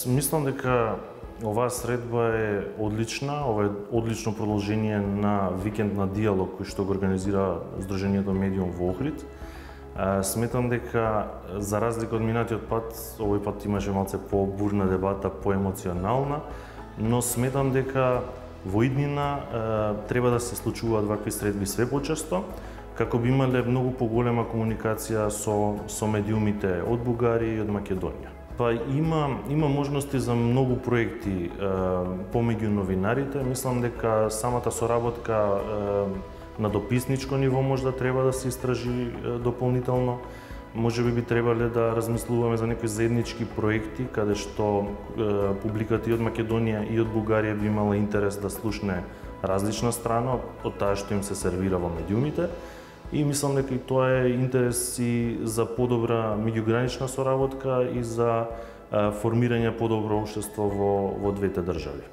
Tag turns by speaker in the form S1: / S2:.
S1: Мислам дека оваа средба е одлична, ова е одлично продолжение на викенд на диалог кој што го организира Сдруженијето Медиум во Охрид. Сметам дека за разлика од минатиот пат, овој пат имаше малце по-бурна дебата, по-емоционална, но сметам дека во иднина треба да се случуваат вакви средби све почесто, како би имале многу поголема комуникација со медиумите од Бугарија и од Македонија. Има можности за многу проекти помеѓу новинарите. Мислам дека самата соработка на дописничко ниво може да треба да се истражи дополнително. Можеби би требале да размислуваме за некои заеднички проекти каде што публиката и од Македонија и од Бугарија би имала интерес да слушне различна страна од таа што им се сервира во медиумите. И мислам дека и тоа е интерес и за подобра меѓугранична соработка и за формирање подобро општество во двете држави.